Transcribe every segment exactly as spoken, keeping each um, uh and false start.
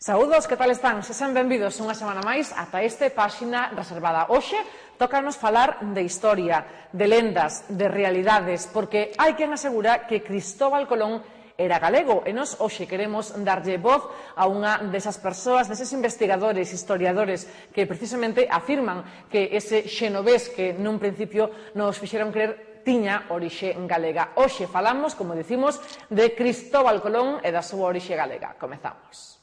Saúdos, que tal están? Sexan benvidos unha semana máis ata este Páxina Reservada. Hoxe tócanos falar de historia, de lendas, de realidades, porque hai quen asegura que Cristóbal Colón era galego, e nós hoxe queremos darlle voz a unha desas persoas, deses investigadores, historiadores, que precisamente afirman que ese xenovés que nun principio nos fixeron creer tiña orixe galega. Hoxe falamos, como dicimos, de Cristóbal Colón e da súa orixe galega. Comezamos.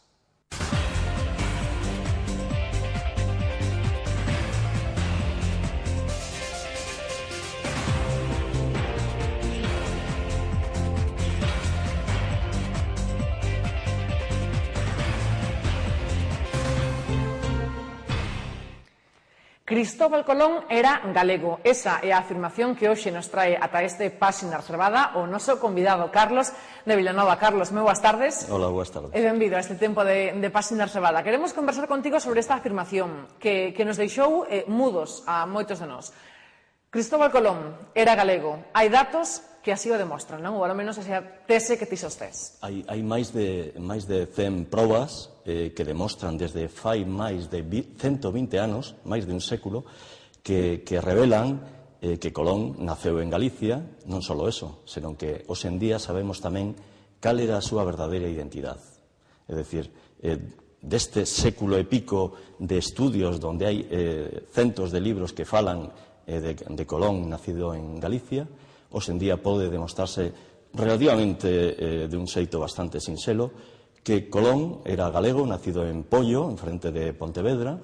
Cristóbal Colón era galego. Esa é a afirmación que hoxe nos trae ata este Páxina Reservada o noso convidado Carlos de Vilanova. Carlos, moi boas tardes. Hola, boas tardes. E benvido a este tempo de, de Páxina Reservada. Queremos conversar contigo sobre esta afirmación que, que nos deixou eh, mudos a moitos de nós. Cristóbal Colón era galego. Hai datos que así o demostran, non? Ou ao menos esa tese que ti sostés. Hai, hai máis de, máis de cen probas eh, que demostran desde fai máis de ciento vinte anos, máis de un século, que, que revelan eh, que Colón naceu en Galicia, non só eso, senón que hoxe en día sabemos tamén cal era a súa verdadeira identidade. É dicir, eh, deste século e pico de estudios onde hai eh, centos de libros que falan eh, de, de Colón nacido en Galicia, hoxe en día pode demostrarse relativamente eh, de un xeito bastante sinxelo que Colón era galego, nacido en Pollo, en frente de Pontevedra,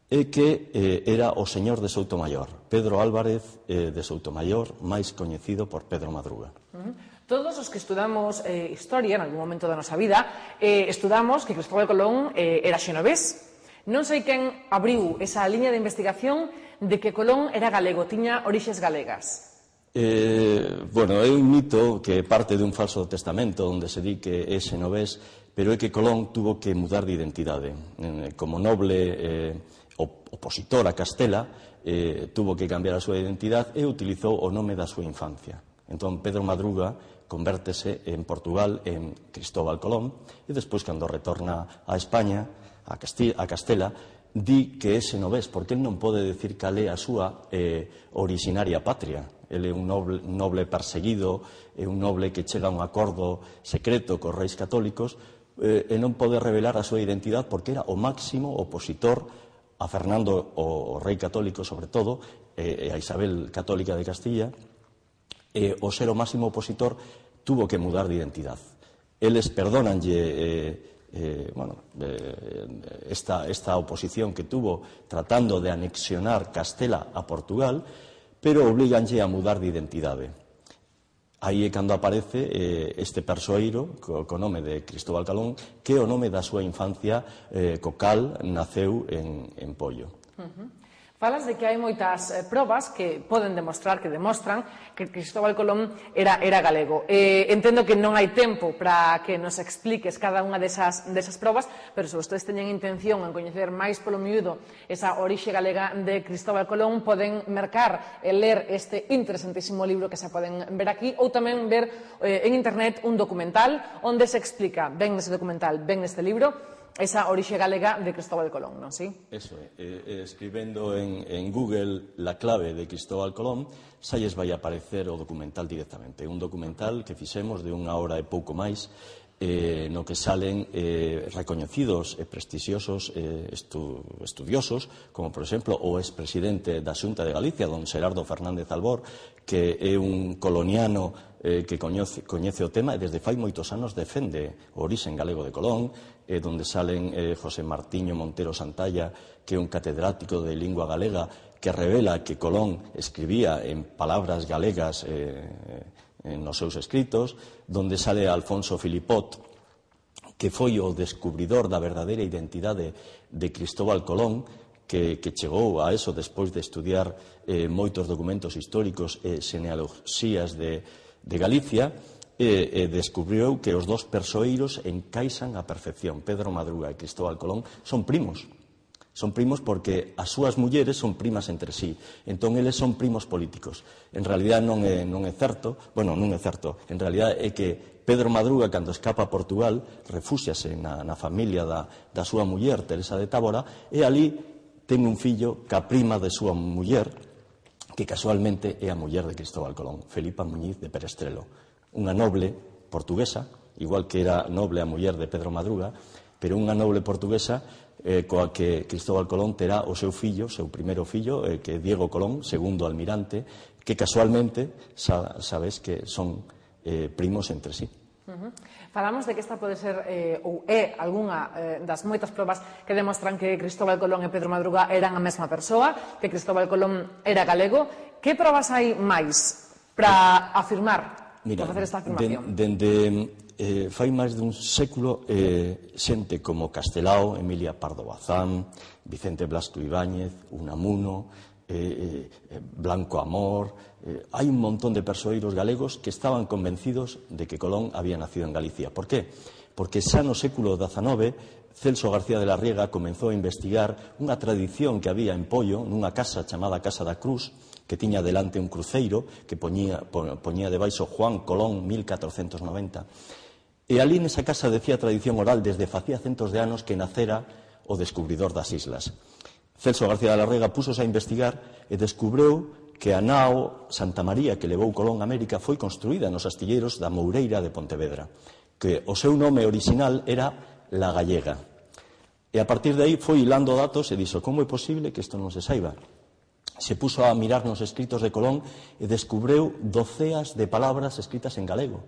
e que eh, era o señor de Soutomayor, Pedro Álvarez eh, de Soutomayor, máis coñecido por Pedro Madruga. Uh-huh. Todos os que estudamos eh, historia en algún momento da nosa vida eh, estudamos que Cristóbal Colón eh, era xenovés. Non sei quen abriu esa liña de investigación de que Colón era galego, tiña orixes galegas. Eh, bueno, é un mito que parte dun falso testamento onde se di que é xenovés, pero é que Colón tuvo que mudar de identidade. Eh, como noble eh, opositor a Castela, eh, tuvo que cambiar a súa identidade e utilizou o nome da súa infancia. Entón, Pedro Madruga convértese en Portugal en Cristóbal Colón e despois, cando retorna a España, a, Castilla, a Castela, di que é xenovés, porque el non pode decir cal é a súa eh, originaria patria. Ele é un noble, un noble perseguido, é un noble que chega a un acordo secreto cos reis católicos eh, e non pode revelar a súa identidade porque era o máximo opositor a Fernando, o rei católico sobre todo, e a Isabel católica de Castilla, e o ser o máximo opositor tuvo que mudar de identidade. Eles perdónanlle eh, eh, bueno, eh, esta, esta oposición que tuvo tratando de anexionar Castela a Portugal, pero obliganlle a mudar de identidade. Aí é cando aparece eh, este persoeiro co, co nome de Cristóbal Colón, que é o nome da súa infancia eh, co cal naceu en, en Pollo. Uh-huh. Falas de que hai moitas eh, probas que poden demostrar, que demostran que Cristóbal Colón era, era galego. Eh, entendo que non hai tempo para que nos expliques cada unha desas, desas probas, pero se vostedes teñen intención en coñecer máis polo miúdo esa orixe galega de Cristóbal Colón, poden mercar e ler este interesantísimo libro que se poden ver aquí, ou tamén ver eh, en internet un documental onde se explica, ben nese documental, ben neste libro, esa orixe galega de Cristóbal Colón, non si? Eso é. Eh, escribendo en, en Google la clave de Cristóbal Colón, xa lles vai aparecer o documental directamente. Un documental que fixemos de unha hora e pouco máis, eh, no que salen eh, recoñecidos e prestixiosos eh, estu, estudiosos, como, por exemplo, o expresidente da Xunta de Galicia, don Xerardo Fernández Albor, que é un coloniano eh, que coñece, coñece o tema e desde fai moitos anos defende o orixen galego de Colón, eh, donde salen eh, José Martiño Montero Santalla, que é un catedrático de lingua galega, que revela que Colón escribía en palabras galegas eh, nos seus escritos, donde sale Alfonso Filipot, que foi o descubridor da verdadeira identidade de Cristóbal Colón, que, que chegou a eso despois de estudiar eh, moitos documentos históricos e genealoxías de, de Galicia, e, e descubriu que os dos persoeiros encaixan á perfección. Pedro Madruga e Cristóbal Colón son primos. Son primos porque as súas mulleres son primas entre sí. Entón, eles son primos políticos. En realidad non é, non é certo, bueno, non é certo, en realidad é que Pedro Madruga, cando escapa a Portugal, refúxiase na, na familia da, da súa muller, Teresa de Tábora, e ali ten un fillo ca prima de súa muller, que casualmente é a muller de Cristóbal Colón, Felipa Muñiz de Perestrelo, unha noble portuguesa, igual que era noble a muller de Pedro Madruga, pero unha noble portuguesa eh, coa que Cristóbal Colón terá o seu fillo, o seu primeiro fillo, eh, que é Diego Colón, segundo almirante, que casualmente sa, sabes que son eh, primos entre sí. Uh-huh. Falamos de que esta pode ser eh, ou é algunha eh, das moitas probas que demostran que Cristóbal Colón e Pedro Madruga eran a mesma persoa, que Cristóbal Colón era galego. Que probas hai máis para afirmar, Mira, para facer esta afirmación? Dende eh, fai máis dun século eh, xente como Castelao, Emilia Pardo Bazán, Vicente Blasco Ibáñez, Unamuno, eh, eh, Blanco Amor, eh, hai un montón de persoeiros galegos que estaban convencidos de que Colón había nacido en Galicia. Por qué? Porque xa no século dezanove Celso García de la Riega comenzou a investigar unha tradición que había en Pollo, nunha casa chamada Casa da Cruz, que tiña delante un cruceiro que poñía, poñía debaixo Juan Colón mil catrocentos noventa. E ali nesa casa decía a tradición oral desde facía centos de anos que nacera o descubridor das islas. Celso García de la Riega púsose a investigar e descubreu que a nao Santa María que levou Colón a América foi construída nos astilleiros da Moureira de Pontevedra, que o seu nome original era La Gallega. E a partir de aí foi hilando datos e dixo, como é posible que isto non se saiba? Se puso a mirar nos escritos de Colón e descubreu doceas de palabras escritas en galego.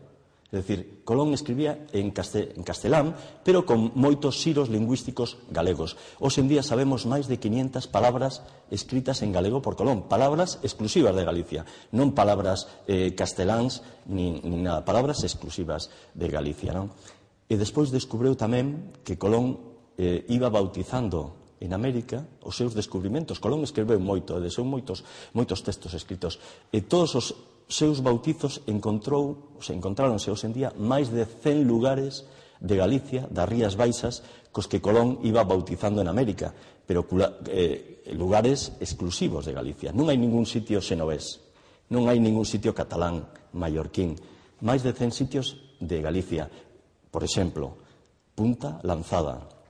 É dicir, Colón escribía en, castel, en castelán, pero con moitos xiros lingüísticos galegos. Hoxe en día sabemos máis de quinientas palabras escritas en galego por Colón, palabras exclusivas de Galicia, non palabras eh, casteláns ni, ni nada, palabras exclusivas de Galicia, non? E despois descubreu tamén que Colón eh, iba bautizando en América os seus descubrimentos. Colón escreveu moito, e deseu moitos, moitos textos escritos. E todos os seus bautizos encontrou, se encontráronse hoxe en día máis de cen lugares de Galicia, das Rías Baixas, cos que Colón iba bautizando en América, pero eh, lugares exclusivos de Galicia. Non hai ningún sitio xenovés, non hai ningún sitio catalán, mallorquín, máis de cen sitios de Galicia. Por exemplo, Punta Lanzada,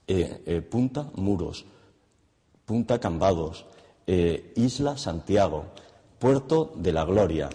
Eh, eh, Punta Muros, Punta Cambados, eh, Isla Santiago, Puerto de la Gloria,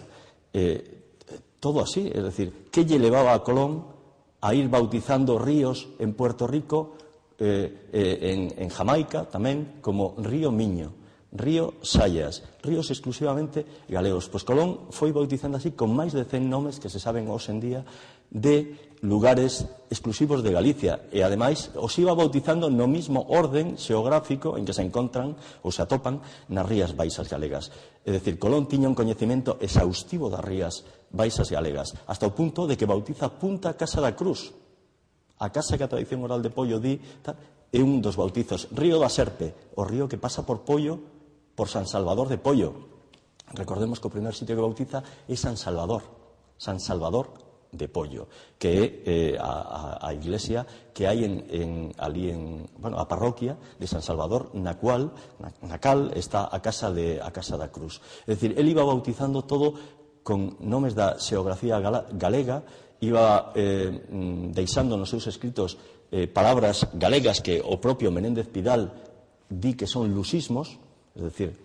eh, todo así, es decir, ¿qué lle levaba a Colón a ir bautizando ríos en Puerto Rico, eh, eh, en, en Jamaica tamén, como Río Miño, Río Sayas, ríos exclusivamente galegos? Pois Colón foi bautizando así con máis de cen nomes que se saben hoxe en día de lugares exclusivos de Galicia, e ademais os iba bautizando no mismo orden xeográfico en que se encontran ou se atopan nas Rías Baixas galegas. É dicir, Colón tiña un coñecemento exhaustivo das Rías Baixas galegas, hasta o punto de que bautiza Punta Casa da Cruz, a casa que a tradición oral de Pollo di, tal, é un dos bautizos. Río da Serpe, o río que pasa por Pollo, por San Salvador de Pollo. Recordemos que o primer sitio que bautiza é San Salvador, San Salvador de Pollo, que é eh, a, a, a iglesia que hai en, en, ali en, bueno, a parroquia de San Salvador, na cual, na, na cal está a casa de a casa da Cruz. É dicir, el iba bautizando todo con nomes da xeografía gala, galega, iba eh, deixando nos seus escritos eh, palabras galegas que o propio Menéndez Pidal di que son lusismos, é dicir,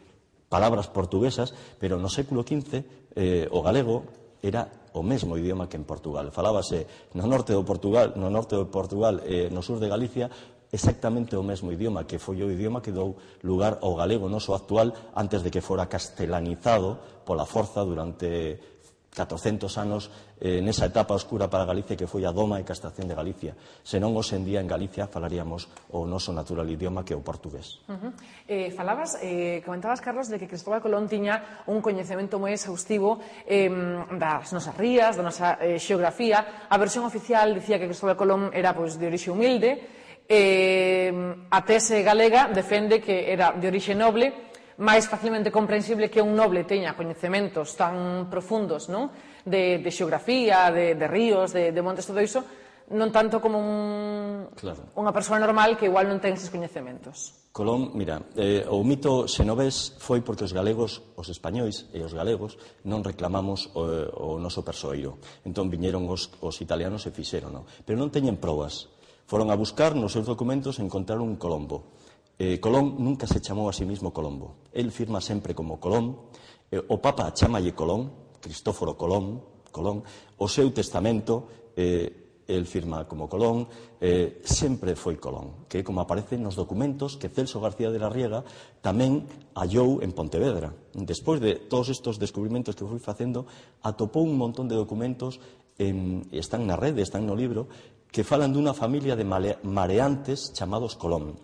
palabras portuguesas, pero no século quince eh, o galego era o mesmo idioma que en Portugal. Falábase no norte do Portugal, no norte do Portugal e no sur de Galicia exactamente o mesmo idioma, que foi o idioma que dou lugar ao galego noso actual antes de que fora castelanizado pola forza durante catrocentos anos eh, nesa etapa oscura para Galicia que foi a doma e castración de Galicia. Senón, hoxe en día en Galicia falaríamos o noso natural idioma que é o portugués. Uh-huh. eh, falabas, eh, comentabas, Carlos, de que Cristóbal Colón tiña un coñecemento moi exhaustivo eh, das nosas rías, da nosa eh, xeografía. A versión oficial dicía que Cristóbal Colón era pois, de orixe humilde, eh, a tese galega defende que era de orixe noble, máis facilmente comprensible que un noble teña coñecementos tan profundos, non? De, de xeografía, de, de ríos, de, de montes, todo iso, non tanto como un, claro. unha persoa normal que igual non ten eses coñecementos. Colón, mira, eh, o mito xenovés foi porque os galegos, os españois e os galegos non reclamamos o, o noso persoeiro. Entón viñeron os, os italianos e fixeron, no? Pero non teñen probas. Foron a buscar nos seus documentos e encontraron un Colombo. Eh, Colón nunca se chamou a sí mismo Colombo. El firma sempre como Colón. Eh, o Papa chamalle Colón, Cristóforo Colón, Colón. O seu testamento... Eh, el firma como Colón, eh, sempre foi Colón, que como aparece nos documentos que Celso García de la Riega tamén hallou en Pontevedra. Despois de todos estes descubrimentos que foi facendo, atopou un montón de documentos, en, están na rede, están no libro, que falan dunha familia de mareantes chamados Colón,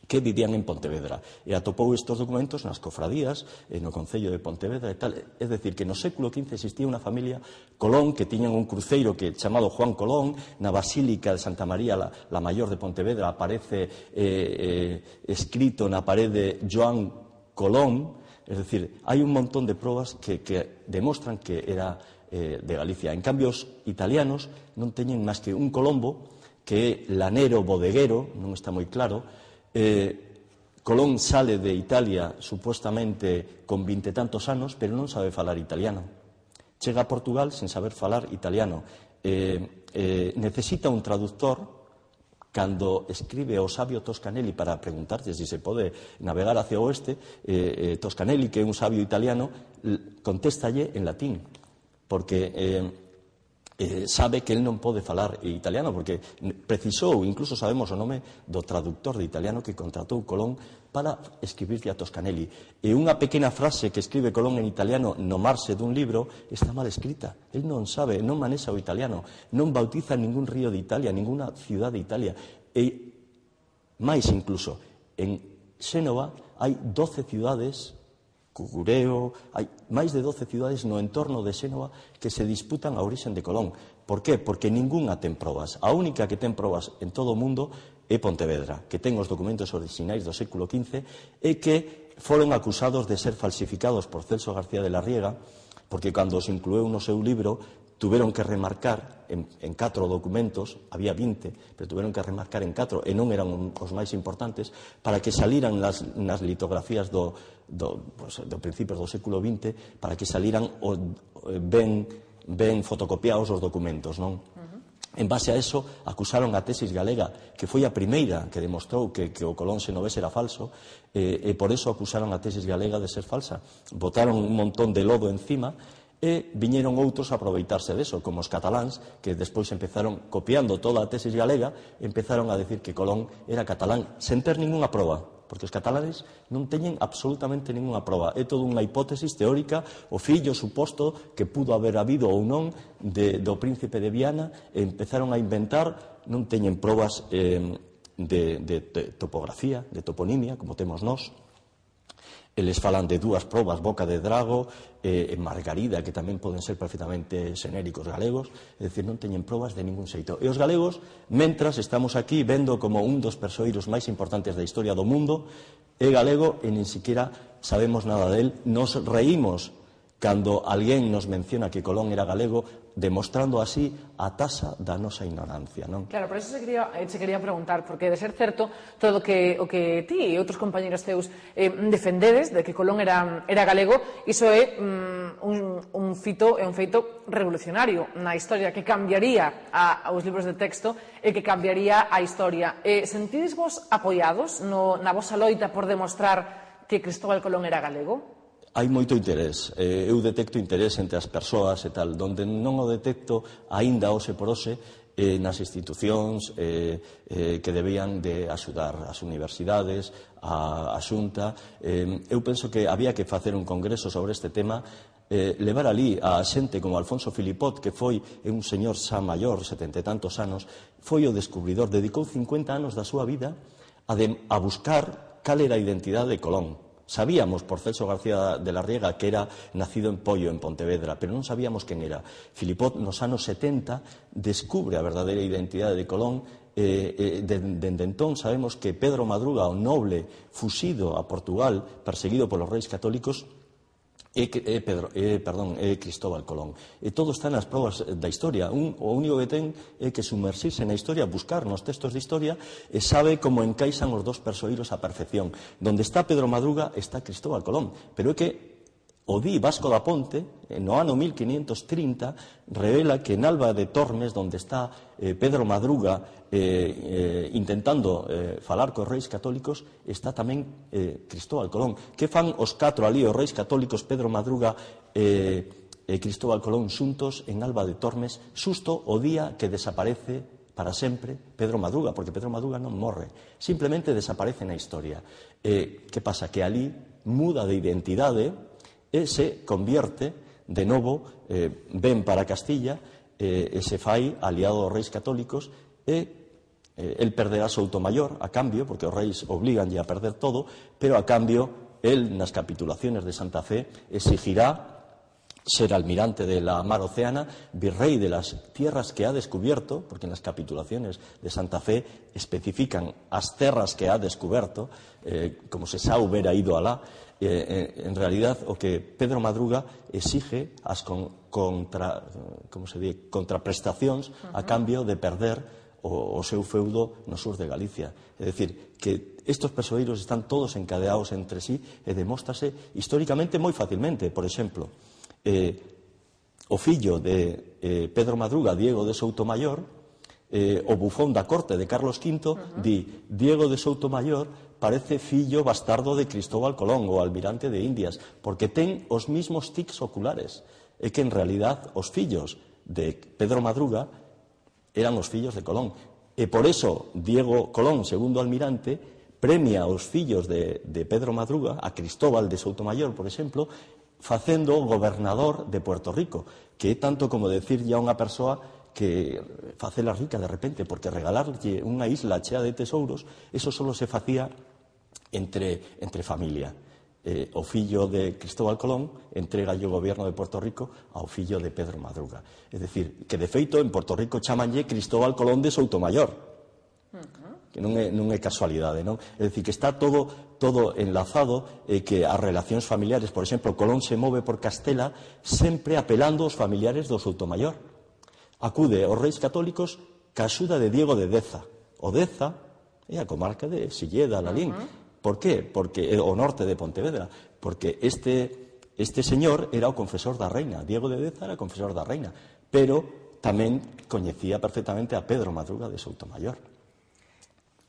que vivían en Pontevedra. E atopou estes documentos nas cofradías, no Concello de Pontevedra e tal. É dicir, que no século quince existía unha familia Colón que tiñan un cruceiro que chamado Juan Colón. Na Basílica de Santa María, la, la Mayor de Pontevedra, aparece eh, eh, escrito na parede Joan Colón. É dicir, hai un montón de probas que, que demostran que era eh, de Galicia. En cambio, os italianos non teñen máis que un Colombo, que é lanero, bodeguero, non está moi claro. Eh, Colón sale de Italia supuestamente con vinte tantos anos, pero non sabe falar italiano. Chega a Portugal sen saber falar italiano. Eh, eh, necesita un traductor. Cando escribe o sabio Toscanelli para preguntarse se se pode navegar hacia o oeste, eh, eh, Toscanelli, que é un sabio italiano, contéstalle en latín, porque... Eh, Eh, sabe que el non pode falar italiano, porque precisou, incluso sabemos o nome do traductor de italiano que contratou Colón para escribirlle a Toscanelli. E unha pequena frase que escribe Colón en italiano no marxe dun libro está mal escrita. El non sabe, non manexa o italiano, non bautiza ningún río de Italia, ninguna ciudad de Italia. E máis incluso, en Xénova hai doce ciudades, Cugureo, hai máis de doce ciudades no entorno de Xénova que se disputan a orixen de Colón. Por qué? Porque ningunha ten probas. A única que ten probas en todo o mundo é Pontevedra, que ten os documentos orixinais do século quince e que foron acusados de ser falsificados por Celso García de la Riega, porque cando os inclueu no seu libro tuveron que remarcar en, en catro documentos, había vinte, pero tuveron que remarcar en catro, e non eran os máis importantes, para que saliran nas, nas litografías do, do, pues, do principios do século vinte, para que saliran o, ben, ben fotocopiados os documentos, non? Uh-huh. En base a eso, acusaron a tesis galega, que foi a primeira que demostrou que, que o Colón xenovés era falso, e, e por eso acusaron a tesis galega de ser falsa. Botaron un montón de lodo encima, e viñeron outros a aproveitarse deso, como os cataláns, que despois empezaron, copiando toda a tesis galega, empezaron a decir que Colón era catalán, sen ter ninguna proba, porque os catalanes non teñen absolutamente ninguna proba. É toda unha hipótesis teórica, o fillo suposto que pudo haber habido ou non de, do príncipe de Viana, e empezaron a inventar, non teñen probas eh, de, de, de topografía, de toponimia, como temos nós. Eles falan de dúas probas, Boca de Drago e eh, Margarida, que tamén poden ser perfectamente xenéricos galegos, é dicir, non teñen probas de ningún xeito. E os galegos, mentras estamos aquí vendo como un dos persoeiros máis importantes da historia do mundo, é galego e nin siquiera sabemos nada del, nos reímos cando alguén nos menciona que Colón era galego, demostrando así a tasa da nosa ignorancia, non? Claro, por eso se quería, se quería preguntar, porque de ser certo todo o que, o que ti e outros compañeros teus eh, defendedes de que Colón era, era galego, iso é um, un, un fito, é un feito revolucionario na historia que cambiaría a, aos libros de texto e que cambiaría a historia. Eh, sentides vos apoiados no, na vosa loita por demostrar que Cristóbal Colón era galego? Hai moito interés, eh, eu detecto interés entre as persoas e tal, donde non o detecto aínda hoxe por hoxe eh, nas institucións eh, eh, que debían de axudar as universidades, a, a Xunta. Eh, eu penso que había que facer un congreso sobre este tema, eh, levar ali a xente como Alfonso Filipot, que foi un señor xa maior, setenta e tantos anos, foi o descubridor, dedicou cincuenta anos da súa vida a, de, a buscar cal era a identidade de Colón. Sabíamos por Celso García de la Riega que era nacido en Pollo, en Pontevedra, pero non sabíamos quen era. Filipot, nos anos setenta, descubre a verdadeira identidade de Colón. Eh, eh, dende entón sabemos que Pedro Madruga, o noble fuxido a Portugal, perseguido polos reis católicos, é, é, Pedro, é, perdón, é Cristóbal Colón. E todo está nas probas da historia. Un, o único que ten é que sumersirse na historia, buscar nos textos de historia e sabe como encaixan os dos persoeiros á perfección. Donde está Pedro Madruga está Cristóbal Colón. Pero é que o di Vasco da Ponte, no ano mil quinientos trinta, revela que en Alba de Tormes, onde está eh, Pedro Madruga eh, eh, intentando eh, falar cos reis católicos, está tamén eh, Cristóbal Colón. Que fan os catro ali, os reis católicos, Pedro Madruga e eh, Cristóbal Colón xuntos en Alba de Tormes, xusto o día que desaparece para sempre Pedro Madruga, porque Pedro Madruga non morre, simplemente desaparece na historia. Eh, que pasa? Que ali muda de identidade e se convierte de novo, eh, ven para Castilla eh, e se fai aliado aos reis católicos e eh, el perderá Soutomayor a cambio, porque os reis obliganlle a perder todo, pero a cambio el nas capitulaciones de Santa Fe exigirá ser almirante de la mar Océana, virrey de las tierras que ha descubierto, porque en las capitulaciones de Santa Fe especifican as terras que ha descubierto, eh, como se xa hubiera ido alá. Eh, en realidad, o que Pedro Madruga exige as con, contra, como se di, contraprestacións a cambio de perder o, o seu feudo no sur de Galicia. É dicir, que estes persoeiros están todos encadeados entre sí e demóstrase históricamente moi facilmente. Por exemplo, eh, o fillo de eh, Pedro Madruga, Diego de Soutomayor, eh, o bufón da corte de Carlos quinto, uh-huh. di Diego de Soutomayor parece fillo bastardo de Cristóbal Colón, o almirante de Indias, porque ten os mismos tics oculares. É que, en realidad, os fillos de Pedro Madruga eran os fillos de Colón. E por eso, Diego Colón, segundo almirante, premia aos fillos de, de Pedro Madruga, a Cristóbal de Soutomayor, por exemplo, facendo gobernador de Puerto Rico, que é tanto como decirlle a unha persoa que facela rica de repente, porque regalarlle unha isla chea de tesouros, eso solo se facía entre, entre familia. Eh, o fillo de Cristóbal Colón entrega o goberno de Puerto Rico ao fillo de Pedro Madruga. É dicir, que de feito en Puerto Rico chamanlle Cristóbal Colón de Soutomayor, que non é, non é casualidade, non? É dicir, que está todo, todo enlazado e que as relacións familiares, por exemplo, Colón se move por Castela sempre apelando aos familiares do Soutomayor. Acude aos reis católicos ca axuda de Diego de Deza. O Deza é a comarca de Silleda, Lalín. Uh-huh. Por qué? Porque o norte de Pontevedra. Porque este, este señor era o confesor da reina. Diego de Deza era o confesor da reina. Pero tamén coñecía perfectamente a Pedro Madruga de Soutomayor.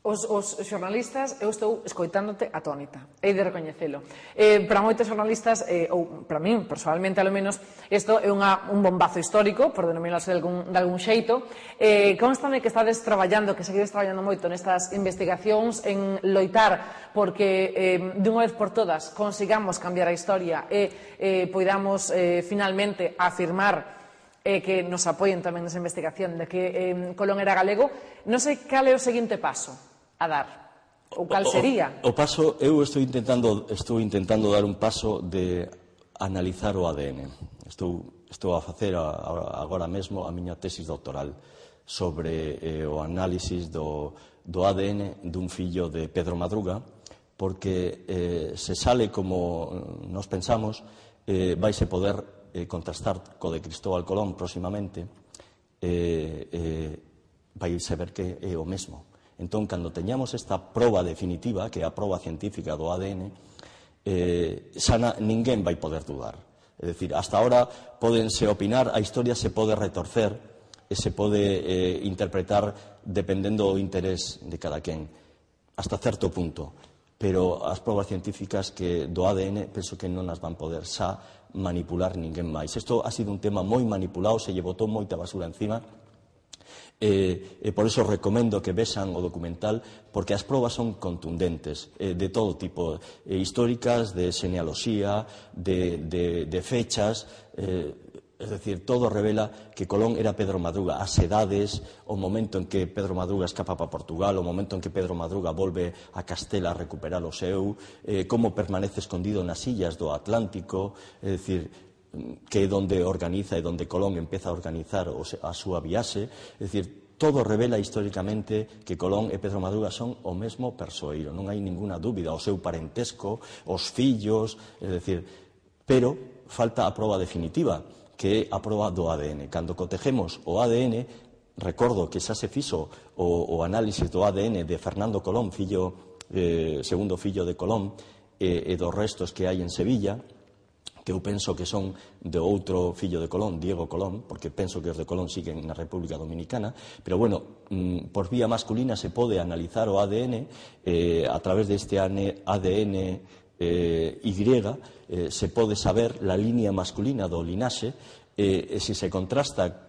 Os, os xornalistas, eu estou escoitándote atónita, hei de recoñecelo. Eh, para moitos xornalistas, eh, ou para min, personalmente, alo menos, isto é unha, un bombazo histórico, por denominarse de algún, de algún xeito. Eh, constame que estades traballando, que seguides traballando moito nestas investigacións, en loitar porque eh, de unha vez por todas consigamos cambiar a historia e eh, poidamos eh, finalmente afirmar e que nos apoien tamén nesa investigación de que eh, Colón era galego. Non sei cal é o seguinte paso a dar, ou cal sería? O, o paso, eu estou intentando estou intentando dar un paso de analizar o A D N. Estou, estou a facer a, a, agora mesmo a miña tesis doctoral sobre eh, o análisis do, do A D N dun fillo de Pedro Madruga, porque eh, se sale como nos pensamos, eh, vaise poder eh, contrastar co de Cristóbal Colón próximamente, eh, eh, vaise ver que é o mesmo. Entón, cando teñamos esta proba definitiva, que é a proba científica do A D N, eh, xa na, ninguén vai poder dudar. É dicir, hasta ahora pódense opinar, a historia se pode retorcer e se pode eh, interpretar dependendo do interés de cada quen, hasta certo punto. Pero as probas científicas que do A D N penso que non as van poder xa manipular ninguén máis. Isto ha sido un tema moi manipulado, se lle botou moita basura encima. E, e por iso recomendo que vexan o documental, porque as probas son contundentes, eh, de todo tipo, eh, históricas, de genealoxía, de, de, de fechas, eh, es decir, todo revela que Colón era Pedro Madruga, as edades, o momento en que Pedro Madruga escapa para Portugal, o momento en que Pedro Madruga volve a Castela a recuperar o seu, eh, como permanece escondido nas illas do Atlántico, é dicir, que é donde organiza e donde Colón empeza a organizar a súa viaxe. É dicir, todo revela históricamente que Colón e Pedro Madruga son o mesmo persoeiro, non hai ninguna dúbida, o seu parentesco, os fillos, é dicir, pero falta a proba definitiva, que é a proba do A D N. Cando cotejemos o A D N, recordo que xa se fixo o, o análisis do A D N de Fernando Colón, fillo, eh, segundo fillo de Colón, e, e dos restos que hai en Sevilla, que eu penso que son de outro fillo de Colón, Diego Colón, porque penso que os de Colón siguen na República Dominicana, pero bueno, por vía masculina se pode analizar o A D N eh, a través deste A D N eh, Y, eh, se pode saber la línea masculina do linaxe, eh, e se se contrasta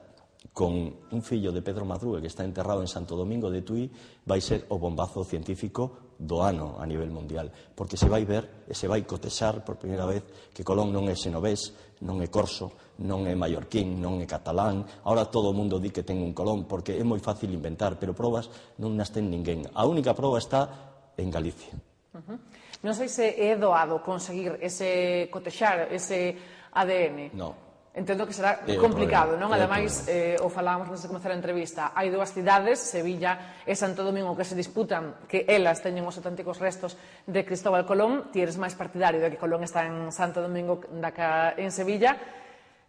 con un fillo de Pedro Madruga que está enterrado en Santo Domingo de Tui, vai ser o bombazo científico do ano a nivel mundial, porque se vai ver e se vai cotexar por primeira vez que Colón non é xenovés, non é corso, non é mallorquín, non é catalán. Ahora todo o mundo di que ten un Colón porque é moi fácil inventar, pero probas non nas ten ninguén. A única proba está en Galicia. Uh-huh. Non sei se é doado conseguir ese cotexar, ese A D N. No. Entendo que será complicado, non? Ademais, eh, o falábamos antes de comezar a entrevista, hai dúas cidades, Sevilla e Santo Domingo, que se disputan que elas teñen os auténticos restos de Cristóbal Colón. Ti eres máis partidario de que Colón está en Santo Domingo da que en Sevilla.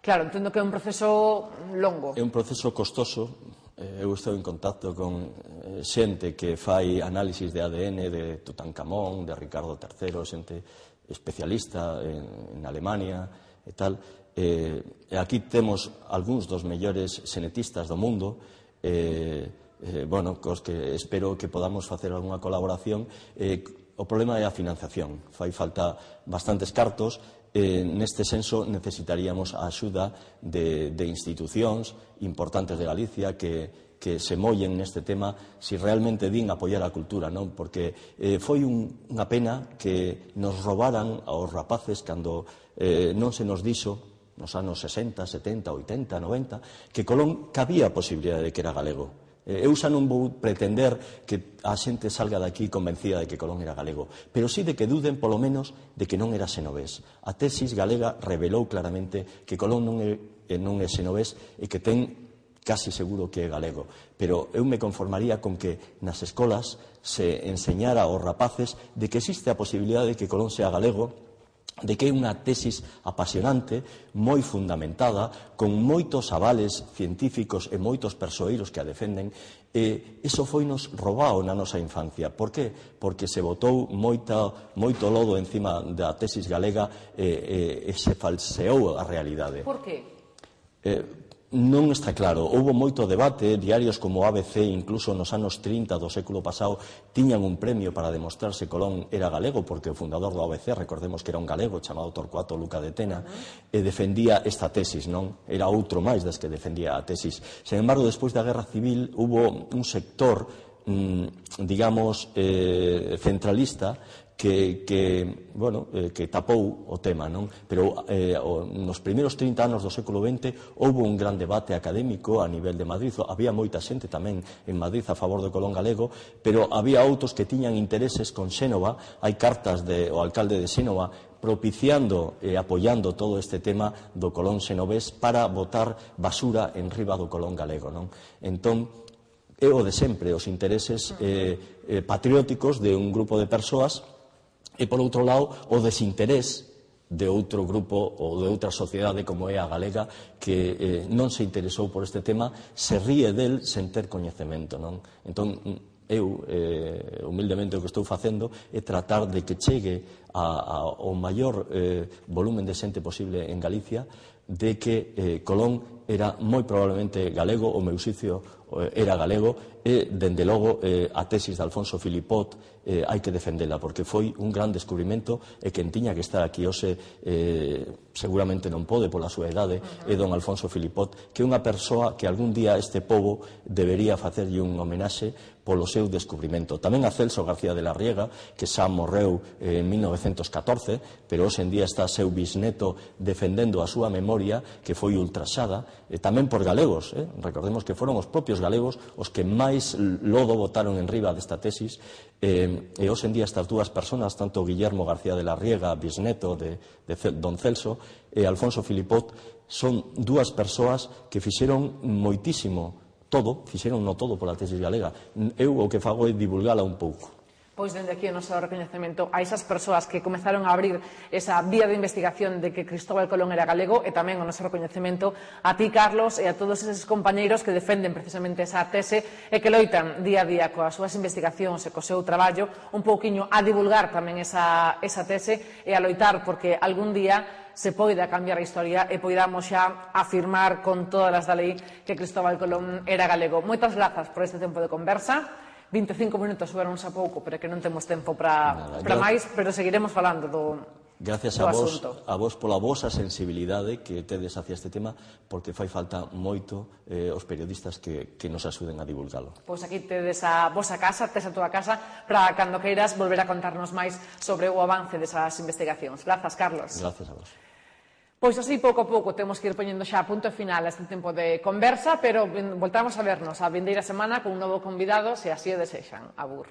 Claro, entendo que é un proceso longo. É un proceso costoso. Eu estou en contacto con xente que fai análisis de A D N de Tutankamón, de Ricardo terceiro, xente especialista en, en Alemania e tal. Eh, e aquí temos algúns dos mellores xenetistas do mundo, eh, eh, bueno, cos que espero que podamos facer algunha colaboración. Eh, o problema é a financiación. Fai falta bastantes cartos. Eh, neste senso necesitaríamos a axuda de, de institucións importantes de Galicia que que se mollen neste tema si realmente din apoiar a cultura, non? Porque eh, foi un, unha pena que nos robaran aos rapaces cando eh, non se nos dixo nos anos sesenta, setenta, oitenta, noventa, que Colón cabía a posibilidade de que era galego. Eu xa non vou pretender que a xente salga daqui convencida de que Colón era galego, pero sí de que duden, polo menos, de que non era xenovés. A tesis galega revelou claramente que Colón non é, non é xenovés e que ten casi seguro que é galego. Pero eu me conformaría con que nas escolas se enseñara aos rapaces de que existe a posibilidade de que Colón sea galego, de que é unha tesis apasionante, moi fundamentada, con moitos avales científicos e moitos persoeiros que a defenden, e iso foinos roubado na nosa infancia. Por que? Porque se botou moita, moito lodo encima da tesis galega e, e, e se falseou a realidade. Por que? Eh, Non está claro. Houbo moito debate, diarios como A B C, incluso nos anos trinta do século pasado, tiñan un premio para demostrar se Colón era galego, porque o fundador do A B C, recordemos que era un galego chamado Torcuato Luca de Tena, e defendía esta tesis, non? Era outro máis das que defendía a tesis. Sen embargo, despois da Guerra Civil, hubo un sector, mmm, digamos, eh, centralista, que, que, bueno, eh, que tapou o tema, non? Pero eh, o, nos primeiros trinta anos do século vinte houve un gran debate académico a nivel de Madrid. Había moita xente tamén en Madrid a favor do Colón galego, pero había outros que tiñan intereses con Xénova. Hai cartas do alcalde de Xénova propiciando e apoiando todo este tema do Colón xenovés para botar basura en riba do Colón galego, non? Entón, é o de sempre, os intereses eh, eh, patrióticos de un grupo de persoas e, por outro lado, o desinterés de outro grupo ou de outra sociedade como é a galega que eh, non se interesou por este tema, se ríe del sen ter coñecemento, non? Entón, eu, eh, humildemente, o que estou facendo é tratar de que chegue a, a, ao maior eh, volumen de xente posible en Galicia de que eh, Colón era moi probablemente galego, o meu xicio eh, era galego, e, dende logo, eh, a tesis de Alfonso Filipot eh, hai que defendela, porque foi un gran descubrimento, e quen tiña que estar aquí hoxe eh, seguramente non pode pola súa idade, é don Alfonso Filipot, que é unha persoa que algún día este pobo debería facerlle un homenaxe polo seu descubrimento. Tamén a Celso García de la Riega, que xa morreu en mil novecentos catorce, pero hoxe en día está seu bisneto defendendo a súa memoria, que foi ultraxada, e tamén por galegos, eh? Recordemos que foron os propios galegos os que máis lodo botaron en riba desta tesis, eh, e hoxe en día estas dúas persoas, tanto Guillermo García de la Riega, bisneto de, de don Celso, e Alfonso Filipot, son dúas persoas que fixeron moitísimo todo, fixeron no todo pola tesis galega. Eu o que fago é divulgala un pouco. Pois dende aquí o noso recoñecemento a esas persoas que comezaron a abrir esa vía de investigación de que Cristóbal Colón era galego, e tamén o noso recoñecemento a ti, Carlos, e a todos eses compañeiros que defenden precisamente esa tese e que loitan día a día coas súas investigacións e co seu traballo un pouquiño a divulgar tamén esa, esa tese e a loitar porque algún día se poida cambiar a historia e poidamos xa afirmar con todas as da lei que Cristóbal Colón era galego. Moitas grazas por este tempo de conversa. vinte e cinco minutos fueron xa pouco, pero que non temos tempo para máis, pero seguiremos falando do Gracias a vos, a vos pola vosa sensibilidade que tedes hacia este tema, porque fai falta moito eh, os periodistas que, que nos axuden a divulgalo. Pois aquí tedes a vosa casa, tes a túa casa, para cando queiras volver a contarnos máis sobre o avance desas investigacións. Grazas, Carlos. Gracias a vos. Pois así, pouco a pouco, temos que ir poñendo xa a punto final a este tempo de conversa, pero voltamos a vernos a vindeira semana con un novo convidado, se así o desexan. Abur.